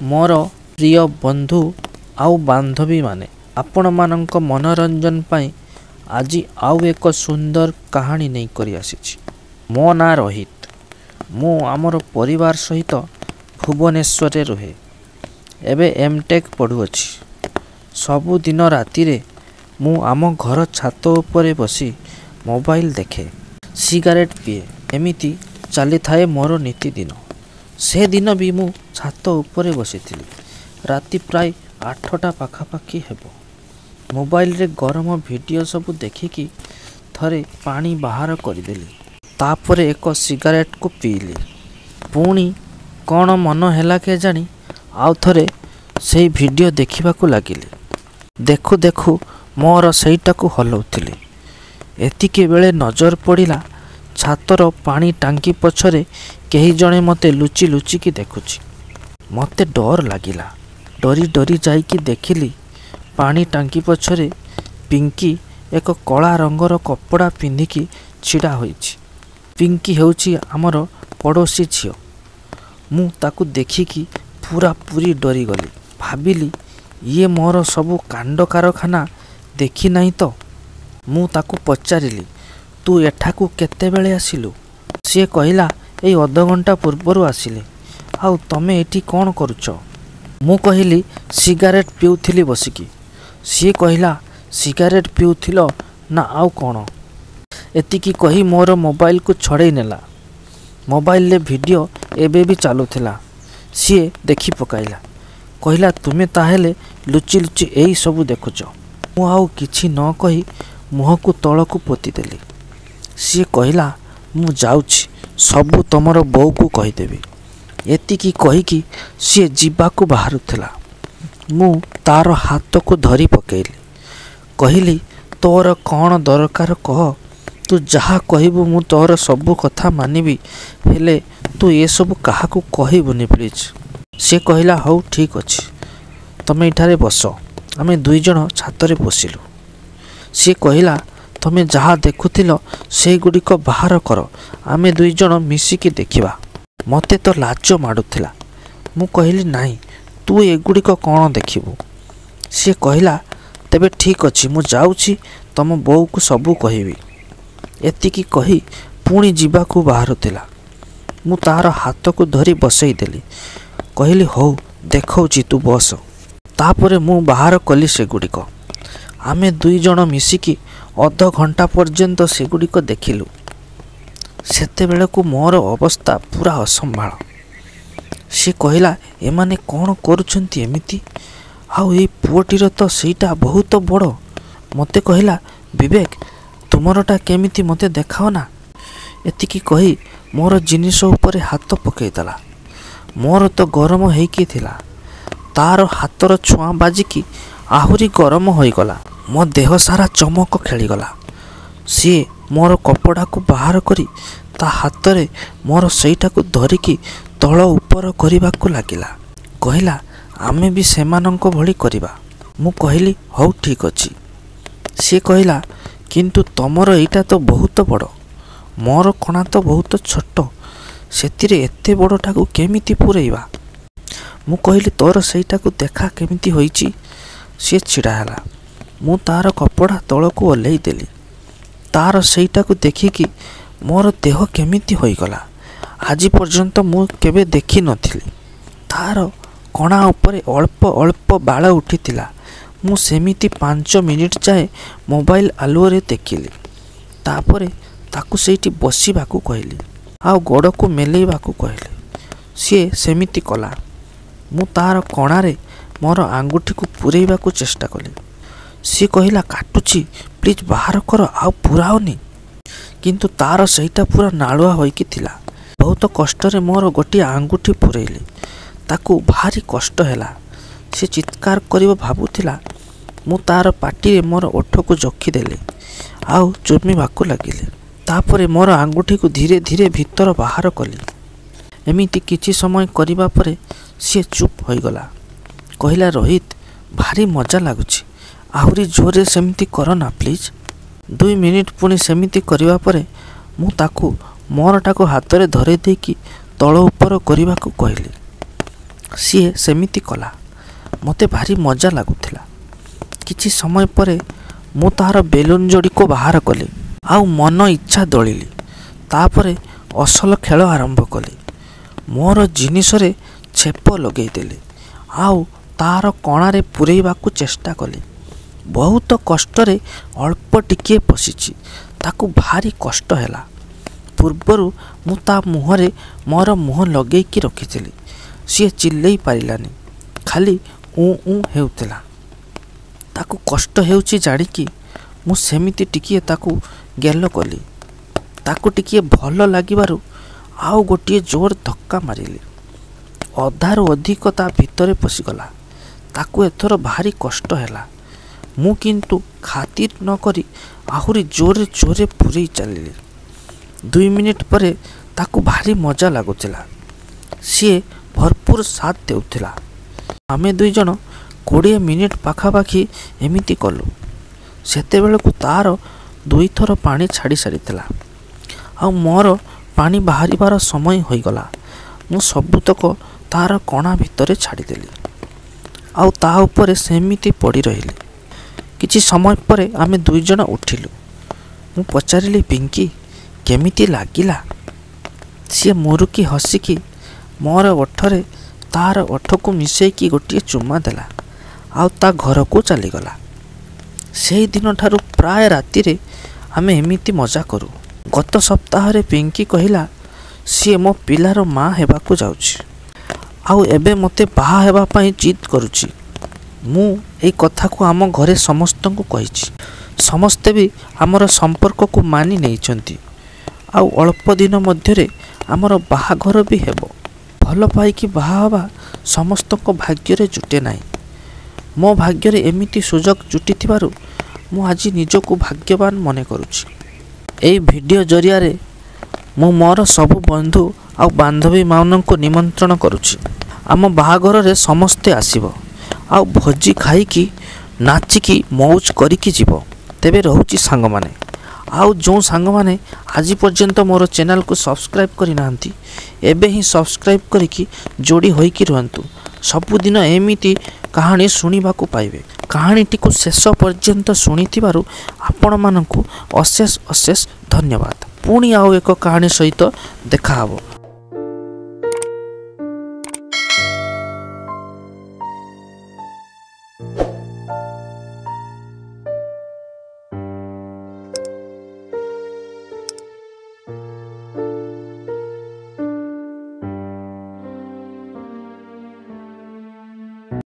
ମୋର ପ୍ରିୟ ବନ୍ଧୁ ଆଉ ବାନ୍ଧବୀମାନେ, ଆପଣମାନଙ୍କ ମନୋରଞ୍ଜନ ପାଇଁ ଆଜି ଆଉ ଏକ ସୁନ୍ଦର କାହାଣୀ ନେଇକରି ଆସିଛି। ମୋ ନାଁ ରୋହିତ। ମୁଁ ଆମର ପରିବାର ସହିତ ଭୁବନେଶ୍ୱରରେ ରୁହେ। ଏବେ ଏମ୍ ଟେକ୍ ପଢ଼ୁଅଛି। ସବୁଦିନ ରାତିରେ ମୁଁ ଆମ ଘର ଛାତ ଉପରେ ବସି ମୋବାଇଲ ଦେଖେ, ସିଗାରେଟ୍ ପିଏ। ଏମିତି ଚାଲିଥାଏ ମୋର ନିତିଦିନ। ସେଦିନ ବି ମୁଁ ଛାତ ଉପରେ ବସିଥିଲି। ରାତି ପ୍ରାୟ 8ଟା ପାଖାପାଖି ହେବ। ମୋବାଇଲରେ ଗରମ ଭିଡ଼ିଓ ସବୁ ଦେଖିକି ଥରେ ପାଣି ବାହାର କରିଦେଲି। ତାପରେ ଏକ ସିଗାରେଟକୁ ପିଇଲି। ପୁଣି କ'ଣ ମନ ହେଲା କେଜାଣି, ଆଉ ଥରେ ସେଇ ଭିଡ଼ିଓ ଦେଖିବାକୁ ଲାଗିଲି। ଦେଖୁ ଦେଖୁ ମୋର ସେଇଟାକୁ ହଲଉଥିଲି। ଏତିକିବେଳେ ନଜର ପଡ଼ିଲା ଛାତର ପାଣି ଟାଙ୍କି ପଛରେ କେହି ଜଣେ ମୋତେ ଲୁଚି ଲୁଚିକି ଦେଖୁଛି। ମୋତେ ଡର ଲାଗିଲା। ଡରି ଡରି ଯାଇକି ଦେଖିଲି ପାଣି ଟାଙ୍କି ପଛରେ ପିଙ୍କି ଏକ କଳା ରଙ୍ଗର କପଡ଼ା ପିନ୍ଧିକି ଛିଡ଼ା ହୋଇଛି। ପିଙ୍କି ହେଉଛି ଆମର ପଡ଼ୋଶୀ ଝିଅ। ମୁଁ ତାକୁ ଦେଖିକି ପୂରାପୂରି ଡରିଗଲି। ଭାବିଲି ଇଏ ମୋର ସବୁ କାଣ୍ଡ କାରଖାନା ଦେଖିନାହିଁ ତ? ମୁଁ ତାକୁ ପଚାରିଲି, ତୁ ଏଠାକୁ କେତେବେଳେ ଆସିଲୁ? ସିଏ କହିଲା, ଏଇ ଅଧଘଣ୍ଟା ପୂର୍ବରୁ ଆସିଲି। ଆଉ ତମେ ଏଠି କ'ଣ କରୁଛ? ମୁଁ କହିଲି, ସିଗାରେଟ୍ ପିଉଥିଲି ବସିକି। ସିଏ କହିଲା, ସିଗାରେଟ୍ ପିଉଥିଲ ନା ଆଉ କ'ଣ? ଏତିକି କହି ମୋର ମୋବାଇଲକୁ ଛଡ଼େଇ ନେଲା। ମୋବାଇଲରେ ଭିଡ଼ିଓ ଏବେ ବି ଚାଲୁଥିଲା। ସିଏ ଦେଖି ପକାଇଲା। କହିଲା, ତୁମେ ତାହେଲେ ଲୁଚି ଲୁଚି ଏଇ ସବୁ ଦେଖୁଛ? ମୁଁ ଆଉ କିଛି ନ କହି ମୁହଁକୁ ତଳକୁ ପୋତିଦେଲି। ସିଏ କହିଲା, ମୁଁ ଯାଉଛି, ସବୁ ତମର ବୋଉକୁ କହିଦେବି। ଏତିକି କହିକି ସିଏ ଯିବାକୁ ବାହାରୁଥିଲା। ମୁଁ ତାର ହାତକୁ ଧରି ପକେଇଲି। କହିଲି, ତୋର କ'ଣ ଦରକାର କହ। ତୁ ଯାହା କହିବୁ ମୁଁ ତୋର ସବୁ କଥା ମାନିବି, ହେଲେ ତୁ ଏସବୁ କାହାକୁ କହିବୁନି ପ୍ଲିଜ୍। ସିଏ କହିଲା, ହଉ ଠିକ୍ ଅଛି, ତମେ ଏଠାରେ ବସ। ଆମେ ଦୁଇଜଣ ଛାତରେ ବସିଲୁ। ସିଏ କହିଲା, ତମେ ଯାହା ଦେଖୁଥିଲ ସେଗୁଡ଼ିକ ବାହାର କର, ଆମେ ଦୁଇଜଣ ମିଶିକି ଦେଖିବା। ମୋତେ ତ ଲାଜ ମାଡ଼ୁଥିଲା। ମୁଁ କହିଲି, ନାହିଁ, ତୁ ଏଗୁଡ଼ିକ କ'ଣ ଦେଖିବୁ? ସିଏ କହିଲା, ତେବେ ଠିକ୍ ଅଛି, ମୁଁ ଯାଉଛି, ତମ ବୋଉକୁ ସବୁ କହିବି। ଏତିକି କହି ପୁଣି ଯିବାକୁ ବାହାରୁଥିଲା। ମୁଁ ତାର ହାତକୁ ଧରି ବସେଇଦେଲି। କହିଲି, ହଉ ଦେଖାଉଛି, ତୁ ବସ। ତାପରେ ମୁଁ ବାହାର କଲି ସେଗୁଡ଼ିକ। ଆମେ ଦୁଇଜଣ ମିଶିକି ଅଧଘଣ୍ଟା ପର୍ଯ୍ୟନ୍ତ ସେଗୁଡ଼ିକ ଦେଖିଲୁ। ସେତେବେଳକୁ ମୋର ଅବସ୍ଥା ପୂରା ଅସମ୍ଭାଳ। ସିଏ କହିଲା, ଏମାନେ କ'ଣ କରୁଛନ୍ତି ଏମିତି? ଆଉ ଏଇ ପୁଅଟିର ତ ସେଇଟା ବହୁତ ବଡ଼। ମୋତେ କହିଲା, ବିବେକ, ତୁମରଟା କେମିତି ମୋତେ ଦେଖାଅ ନା। ଏତିକି କହି ମୋର ଜିନିଷ ଉପରେ ହାତ ପକେଇଦେଲା। ମୋର ତ ଗରମ ହେଇକି ଥିଲା, ତାର ହାତର ଛୁଆଁ ବାଜିକି ଆହୁରି ଗରମ ହୋଇଗଲା। ମୋ ଦେହ ସାରା ଚମକ ଖେଳିଗଲା। ସିଏ ମୋର କପଡ଼ାକୁ ବାହାର କରି ତା ହାତରେ ମୋର ସେଇଟାକୁ ଧରିକି ତଳ ଉପର କରିବାକୁ ଲାଗିଲା। କହିଲା, ଆମେ ବି ସେମାନଙ୍କ ଭଳି କରିବା। ମୁଁ କହିଲି, ହଉ ଠିକ୍ ଅଛି। ସିଏ କହିଲା, କିନ୍ତୁ ତମର ଏଇଟା ତ ବହୁତ ବଡ଼, ମୋର କଣା ତ ବହୁତ ଛୋଟ, ସେଥିରେ ଏତେ ବଡ଼ଟାକୁ କେମିତି ପୂରେଇବା? ମୁଁ କହିଲି, ତୋର ସେଇଟାକୁ ଦେଖା କେମିତି ହୋଇଛି। ସିଏ ଛିଡ଼ା ହେଲା। ମୁଁ ତାର କପଡ଼ା ତଳକୁ ଓହ୍ଲେଇ ଦେଲି। ତାର ସେଇଟାକୁ ଦେଖିକି ମୋର ଦେହ କେମିତି ହୋଇଗଲା। ଆଜି ପର୍ଯ୍ୟନ୍ତ ମୁଁ କେବେ ଦେଖିନଥିଲି। ତାର କଣା ଉପରେ ଅଳ୍ପ ଅଳ୍ପ ବାଳ ଉଠିଥିଲା। ମୁଁ ସେମିତି 5 ମିନିଟ୍ ଯାଏ ମୋବାଇଲ ଆଲୁଅରେ ଦେଖିଲି। ତାପରେ ତାକୁ ସେଇଠି ବସିବାକୁ କହିଲି ଆଉ ଗୋଡ଼କୁ ମେଲେଇବାକୁ କହିଲି। ସିଏ ସେମିତି କଲା। ମୁଁ ତାର କଣାରେ ମୋର ଆଙ୍ଗୁଠିକୁ ପୂରେଇବାକୁ ଚେଷ୍ଟା କଲି। ସିଏ କହିଲା, କାଟୁଛି, ପ୍ଲିଜ୍ ବାହାର କର, ଆଉ ପୂରାଅନି। କିନ୍ତୁ ତାର ସେଇଟା ପୂରା ନାଳୁଆ ହୋଇକି ଥିଲା। ବହୁତ କଷ୍ଟରେ ମୋର ଗୋଟିଏ ଆଙ୍ଗୁଠି ପୂରେଇଲି। ତାକୁ ଭାରି କଷ୍ଟ ହେଲା। ସେ ଚିତ୍କାର କରିବ ଭାବୁଥିଲା। ମୁଁ ତାର ପାଟିରେ ମୋର ଓଠକୁ ଜୋଖିଦେଲି ଆଉ ଚୁମିବାକୁ ଲାଗିଲି। ତାପରେ ମୋର ଆଙ୍ଗୁଠିକୁ ଧୀରେ ଧୀରେ ଭିତର ବାହାର କଲି। ଏମିତି କିଛି ସମୟ କରିବା ପରେ ସିଏ ଚୁପ୍ ହୋଇଗଲା। କହିଲା, ରୋହିତ, ଭାରି ମଜା ଲାଗୁଛି, ଆହୁରି ଜୋରରେ ସେମିତି କର ନା ପ୍ଲିଜ୍। 2 ମିନିଟ୍ ପୁଣି ସେମିତି କରିବା ପରେ ମୁଁ ତାକୁ ମୋରଟାକୁ ହାତରେ ଧରେଇ ଦେଇକି ତଳ ଉପର କରିବାକୁ କହିଲି। ସିଏ ସେମିତି କଲା। ମୋତେ ଭାରି ମଜା ଲାଗୁଥିଲା। କିଛି ସମୟ ପରେ ମୁଁ ତାହାର ବେଲୁନ୍ ଯୋଡ଼ିକୁ ବାହାର କଲି ଆଉ ମନ ଇଚ୍ଛା ଦଳିଲି। ତାପରେ ଅସଲ ଖେଳ ଆରମ୍ଭ କଲି। ମୋର ଜିନିଷରେ ଛେପ ଲଗେଇଦେଲି ଆଉ ତାର କଣାରେ ପୂରେଇବାକୁ ଚେଷ୍ଟା କଲି। ବହୁତ କଷ୍ଟରେ ଅଳ୍ପ ଟିକିଏ ପଶିଛି। ତାକୁ ଭାରି କଷ୍ଟ ହେଲା। ପୂର୍ବରୁ ମୁଁ ତା ମୁହଁରେ ମୋର ମୁହଁ ଲଗେଇକି ରଖିଥିଲି। ସିଏ ଚିଲ୍ଲେଇ ପାରିଲାନି, ଖାଲି ଉଁ ଉଁ ହେଉଥିଲା। ତାକୁ କଷ୍ଟ ହେଉଛି ଜାଣିକି ମୁଁ ସେମିତି ଟିକିଏ ତାକୁ ଗେଲ କଲି। ତାକୁ ଟିକିଏ ଭଲ ଲାଗିବାରୁ ଆଉ ଗୋଟିଏ ଜୋର ଧକ୍କା ମାରିଲି। ଅଧାରୁ ଅଧିକ ତା ଭିତରେ ପଶିଗଲା। ତାକୁ ଏଥର ଭାରି କଷ୍ଟ ହେଲା। ମୁଁ କିନ୍ତୁ ଖାତିର ନ କରି ଆହୁରି ଜୋରରେ ଜୋରରେ ପୂରେଇ ଚାଲିଲି। 2 ମିନିଟ୍ ପରେ ତାକୁ ଭାରି ମଜା ଲାଗୁଥିଲା। ସିଏ ଭରପୁର ସାଥ ଦେଉଥିଲା। ଆମେ 2 ଜଣ 20 ମିନିଟ୍ ପାଖାପାଖି ଏମିତି କଲୁ। ସେତେବେଳକୁ ତାର ଦୁଇଥର ପାଣି ଛାଡ଼ି ସାରିଥିଲା ଆଉ ମୋର ପାଣି ବାହାରିବାର ସମୟ ହୋଇଗଲା। ମୁଁ ସବୁତକ ତାର କଣା ଭିତରେ ଛାଡ଼ିଦେଲି ଆଉ ତା ଉପରେ ସେମିତି ପଡ଼ି ରହିଲି। କିଛି ସମୟ ପରେ ଆମେ 2 ଜଣ ଉଠିଲୁ। ମୁଁ ପଚାରିଲି, "ପିଙ୍କି, କେମିତି ଲାଗିଲା?" ସିଏ ମୁରୁକି ହସିକି ମୋର ଓଠରେ ତାର ଓଠକୁ ମିଶେଇକି ଗୋଟିଏ ଚୁମା ଦେଲା ଆଉ ତା ଘରକୁ ଚାଲିଗଲା। ସେଇ ଦିନଠାରୁ ପ୍ରାୟ ରାତିରେ ଆମେ ଏମିତି ମଜା କରୁ। ଗତ ସପ୍ତାହରେ ପିଙ୍କି କହିଲା, ସିଏ ମୋ ପିଲାର ମା ହେବାକୁ ଯାଉଛି ଆଉ ଏବେ ମୋତେ ବାହା ହେବା ପାଇଁ ଜିଦ୍ କରୁଛି। ମୁଁ ଏଇ କଥାକୁ ଆମ ଘରେ ସମସ୍ତଙ୍କୁ କହିଛି। ସମସ୍ତେ ବି ଆମର ସମ୍ପର୍କକୁ ମାନି ନେଇଛନ୍ତି ଆଉ ଅଳ୍ପ ଦିନ ମଧ୍ୟରେ ଆମର ବାହାଘର ବି ହେବ। ଭଲ ପାଇକି ବାହା ହେବା ସମସ୍ତଙ୍କ ଭାଗ୍ୟରେ ଜୁଟେ ନାହିଁ। ମୋ ଭାଗ୍ୟରେ ଏମିତି ସୁଯୋଗ ଜୁଟିଥିବାରୁ ମୁଁ ଆଜି ନିଜକୁ ଭାଗ୍ୟବାନ ମନେ କରୁଛି। ଏଇ ଭିଡ଼ିଓ ଜରିଆରେ ମୁଁ ମୋର ସବୁ ବନ୍ଧୁ ଆଉ ବାନ୍ଧବୀମାନଙ୍କୁ ନିମନ୍ତ୍ରଣ କରୁଛି। ଆମ ବାହାଘରରେ ସମସ୍ତେ ଆସିବ ଆଉ ଭୋଜି ଖାଇକି, ନାଚିକି, ମଉଜ କରିକି ଯିବ। ତେବେ ରହୁଛି ସାଙ୍ଗମାନେ। ଆଉ ଯେଉଁ ସାଙ୍ଗମାନେ ଆଜି ପର୍ଯ୍ୟନ୍ତ ମୋର ଚ୍ୟାନେଲକୁ ସବସ୍କ୍ରାଇବ୍ କରିନାହାନ୍ତି, ଏବେ ହିଁ ସବସ୍କ୍ରାଇବ୍ କରିକି ଯୋଡ଼ି ହୋଇକି ରୁହନ୍ତୁ। ସବୁଦିନ ଏମିତି କାହାଣୀ ଶୁଣିବାକୁ ପାଇବେ। କାହାଣୀଟିକୁ ଶେଷ ପର୍ଯ୍ୟନ୍ତ ଶୁଣିଥିବାରୁ ଆପଣମାନଙ୍କୁ ଅଶେଷ ଅଶେଷ ଧନ୍ୟବାଦ। ପୁଣି ଆଉ ଏକ କାହାଣୀ ସହିତ ଦେଖାହେବ।